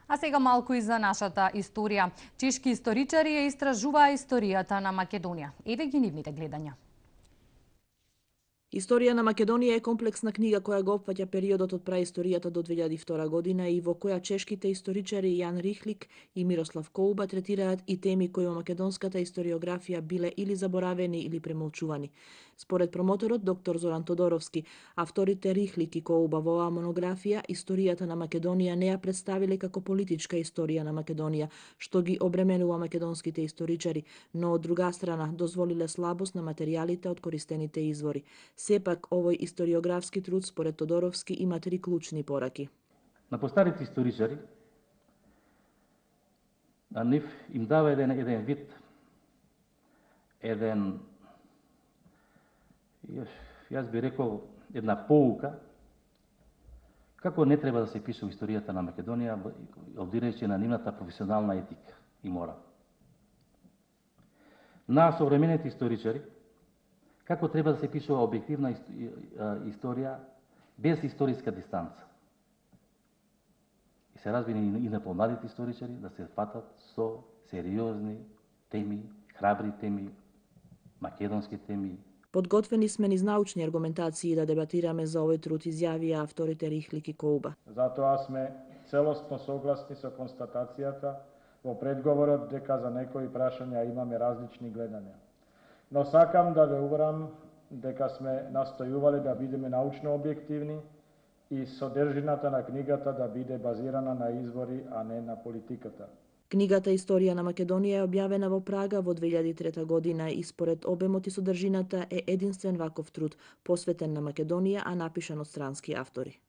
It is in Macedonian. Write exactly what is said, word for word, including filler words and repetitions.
А сега малку и за нашата историја. Чешки историчари ја истражуваа историјата на Македонија. Еве ги нивните гледања. Историја на Македонија е комплексна книга која го опфаќа периодот од праисторијата до две илјади и втора година и во која чешките историчари Јан Рихлик и Мирослав Коуба третираат и теми кои во македонската историографија биле или заборавени или премолчувани. Според промоторот доктор Зоран Тодоровски, авторите Рихлик и Коуба во оваа монографија историјата на Македонија не ја представиле како политичка историја на Македонија, што ги обременува македонските историчари, но од друга страна дозволиле слабост на материјалите од користените извори. Сепак, овој историографски труд, според Тодоровски, има три клучни пораки. На постарите историчари, на нив им дава еден, еден вид, еден, јас би рекол, една поука, како не треба да се пише историјата на Македонија, обдирајќи на нивната професионална етика и морал. На современите историчари, како треба да се пишува објективна историја без историска дистанца. И се разбира и на помладите историчари да се фатат со сериозни теми, храбри теми, македонски теми. Подготвени сме низ научни аргументации да дебатираме за овој труд, изјавија авторите Рихлик и Коуба. Затоа сме целосно согласни со констатацијата во предговорот дека за некои прашања имаме различни гледања. Но сакам да ве уверам дека сме настојувале да бидеме научно објективни и содржината на книгата да биде базирана на извори, а не на политиката. Книгата Историја на Македонија е објавена во Прага во две илјади и трета година и според обемот и содржината е единствен ваков труд, посветен на Македонија, а напишан од странски автори.